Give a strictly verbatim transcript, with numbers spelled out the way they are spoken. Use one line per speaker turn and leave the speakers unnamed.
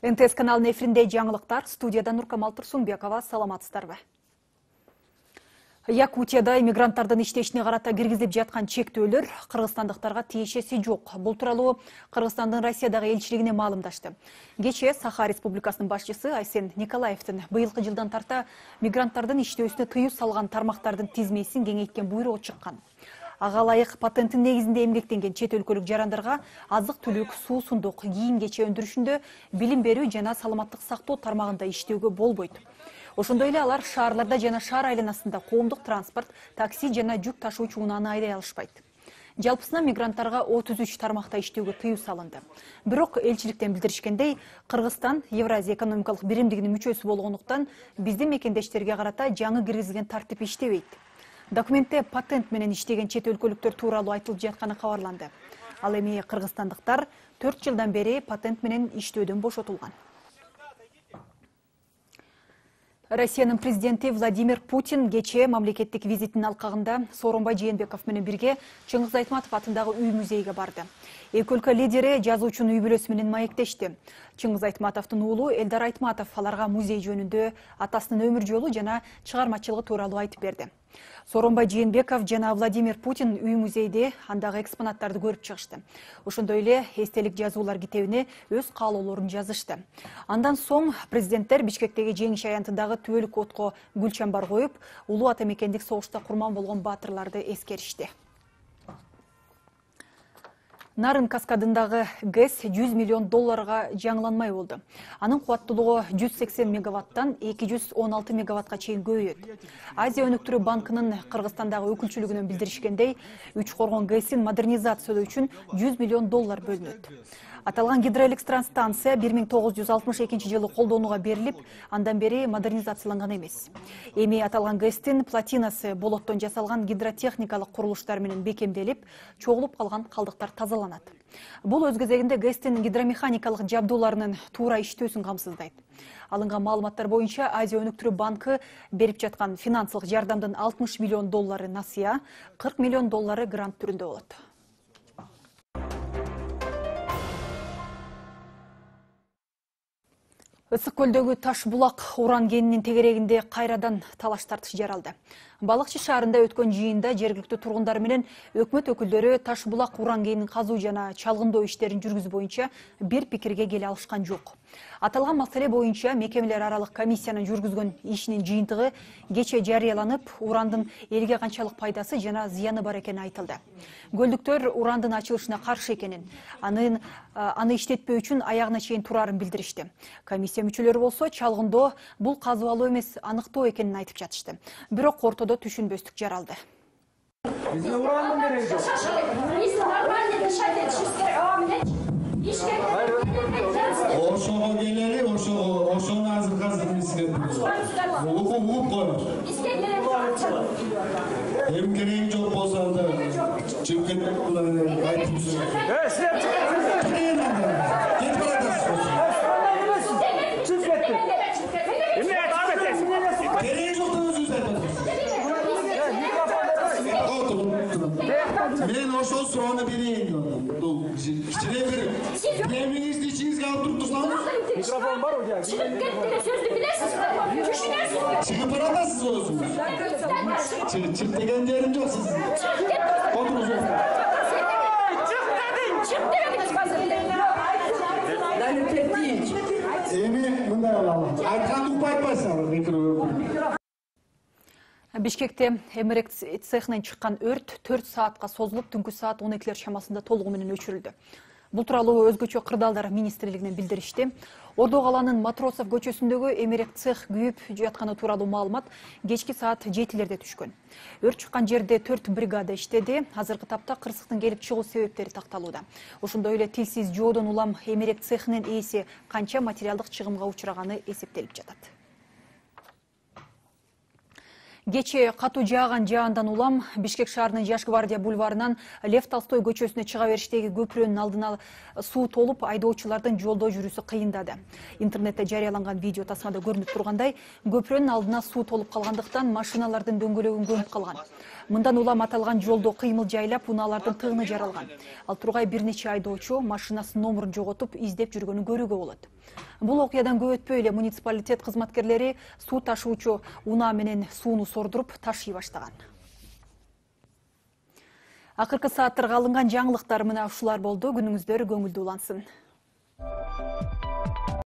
эн тэ эс каналынын эфиринде жаңылыктар, студияда Нуркамал Турсунбекова, саламатсыздарбы? Якутияда иммигранттардын иштешине карата киргизилип жаткан чектөөлөр кыргызстандыктарга тиешеси жок. Бул тууралуу Кыргызстандын Россиядагы элчилигине маалымдашты. Кечээ Саха Республикасынын башчысы Айсен Николаевдин быйылкы жылдан тарта мигранттардын иштөөсүнө тыюу салган тармактардын тизмесин кеңейткен буйругу чыккан. Ага ылайык патенттин негизинде эмгектенген чет өлкөлүк жарандарга азык-түлүк, суусундук, кийим-кече өндүрүшүндө, билим берүү жана саламаттык сактоо тармагында иштөөгө болбойт. Ошондой эле алар шаарларда жана шаар айланасында коомдук транспорт, такси жана жүк ташуучу унааны айдай алышпайт. Жалпысынан мигранттарга отуз үч тармакта иштөөгө тыюу салынды. Бирок элчиликтен билдиришкендей, Кыргызстан Евразия экономикалык биримдигинин мүчөсү болгондуктан биздин мекендештерге карата жаңы киргизилген тартип иштебейт. Документте патент менен иштеген чет өлкөлүктөр тууралуу айтылып жатканы кабарланды. Ал эми кыргызстандыктар төрт жылдан бери патент менен иштөөдөн бошотулган. Россиянын президенти Владимир Путин кечээ мамлекеттик визитинин алкагында Сооронбай Жээнбеков менен бирге Чыңгыз Айтматов атындагы үй-музейге барды. Эки өлкө лидери жазуучунун үй бүлөсү менен маектешти. Чыңгыз Айтматовдун уулу Элдар Айтматов аларга музей жөнүндө, атасынын өмүр жолу жана чыгармачылыгы тууралуу айтып берди. Сооронбай Жээнбеков жана Владимир Путин үй-музейде андагы экспонаттарды көрүп чыгышты. Ошондой эле эстелик жазуулар китебине өз каалоолорун жазышты. Андан соң президенттер Бишкектеги Жеңиш аянтындагы түбөлүк отко гүл чамбар коюп, улуу ата мекендик согушта курман болгон баатырларды эскеришти. Нарын каскадындагы ГЭС жүз миллион долларга жаңыланмай болду. Анын кубаттуулугу жүз сексен мегаваттан эки жүз он алты мегаватка чейин көбөйөт. Азия өнүктүрүү банкынын Кыргызстандагы өкүлчүлүгүнөн билдиришкендей, Үч Коргон ГЭСин модернизациялоо үчүн жүз миллион доллар бөлүнөт. Аталган гидроэлектростанция бир миң тогуз жүз алтымыш экинчи жылы колдонууга берилип, андан бери модернизацияланган эмес. Эми аталган ГЭСтин платинасы болоттон жасалган гидротехникалык курулуштар менен бекемделип, чогулуп калган калдыктар тазаланат. Бул өз кезегинде ГЭСтин гидромеханикалык жабдууларынын туура иштөөсүн камсыздайт. Алынган маалыматтар боюнча Азия өнүктүрүү банкы берип жаткан финансылык жардамдын алтымыш миллион доллары насыя, кырк миллион доллары грант түрүндө болот. Ысык көлдөгү Таш булак уран кенинин тегерегинде кайрадан талаш тартыш жаралды. Балыкчы шаарында өткөн жыйында жергиликтүү тургундар менен өкмөт өкүлдөрү Таш булак уран кенин казуу жана чалгындоо иштерин жүргүзүү боюнча бир пикирге келе алышкан жок. Аталган маселе боюнча мекемелер аралык комиссиянын жүргүзгөн ишинин жыйынтыгы кечээ жарыяланып, урандын элге канчалык пайдасы жана зыяны бар экени айтылды. Көлдүктөр урандын ачылышына каршы экенин, анын аны иштетпөө үчүн аягына чейин турарын билдиришти. Комиссия мүчөлөрү болсо чалгындоо бул казып эмес, аныктоо экенин айтып жатышты. Бирок ортодо түшүнбөстүк жаралды.
Бизге урандын кереги жок. Ошого келели, ошого, ошону азыр азыр бизге угуп угуп коёбуз. Эми кереги жок болсо анда чыгып кетип айтып жүрөт. Э, силер чыгып кетиңиздер. Кетип баратасыз. Чыгып кетти. Эмне айтып кетесиз? Кереги жок деп өзүңүз айтасыз. Мен ошол суроону берейин. Кичине бир эмиңизди ичиңизге алып туруп турсаңыз. Микрофон бар у? Чыгып кетти, сөздү билесизби? Түшүнөсүзбү? Чыгып баратасыз өзүңүз. Чыгып деген жерим жок сиздин. Отуруңуз. Чык дедиң, чык дедиңиз азыр. Эми мындай болалы. Айтканды угуп айтпайсыңар микрофон.
Бишкекте эмерек цехинен чыккан өрт төрт саатка созулуп, түнкү саат он экилер чамасында толугу менен өчүрүлдү. Бул тууралуу өзгөчө кырдаалдар министрлигинен билдиришти. Ордо калаанын Матросов көчөсүндөгү эмерек цех күйүп жатканы тууралуу маалымат кечки саат жетилерде түшкөн. Өрт чыккан жерде төрт бригада иштеди. Азыркы тапта кырсыктын келип чыгуу себептери такталууда. Ошондой эле тилсиз жоодон улам эмерек цехинин ээси канча материалдык чыгымга учураганы эсептелип жатат. Кечээ катуу жааган жаандан улам Бишкек шаарынын Жаш гвардия бульварынан Лев Толстой көчөсүнө чыга бериштеги көпүрөнүн алдына суу толуп, айдоочулардын жолдо жүрүүсү кыйындады. Интернетте жарыяланган видео тасмада көрүнүп тургандай, көпүрөнүн алдына суу толуп калгандыктан машиналардын дөңгөлөгүн көмүп калган. Мындан улам аталган жолдо кыймыл жайлап, унаалардын тыгыны жаралган. Ал тургай бир нече айдоочу машинасынын номурун жоготуп, издеп жүргөнүн көрүүгө болот. Бул окуядан көп өтпөй эле муниципалитет кызматкерлери суу ташуучу унаа менен сууну сордуруп ташый баштаган. Акыркы сааттарга алынган жаңылыктар мына ушулар болду. Күнүңүздөр көңүлдүү улансын.